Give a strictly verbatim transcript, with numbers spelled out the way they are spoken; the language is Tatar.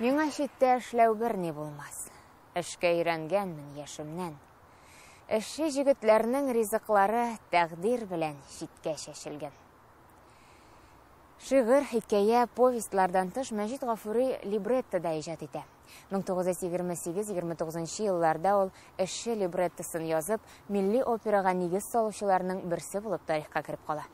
Миңа читтә эшләү берни булмас. Эшкә өйрәнгәнмен яшемнән. Эшче җегетләрнең ризыклары тәкъдир белән читкә чәчелгән. Шигырь, хикәя, повестьлардан тыш Мәҗит Гафури либретто да иҗат итә. мең тугыз йөз егерме сигез егерме тугызынчы елларда ул эшче либреттосын язып, милли операга нигез салучыларның берсе булып тарихка кереп кала.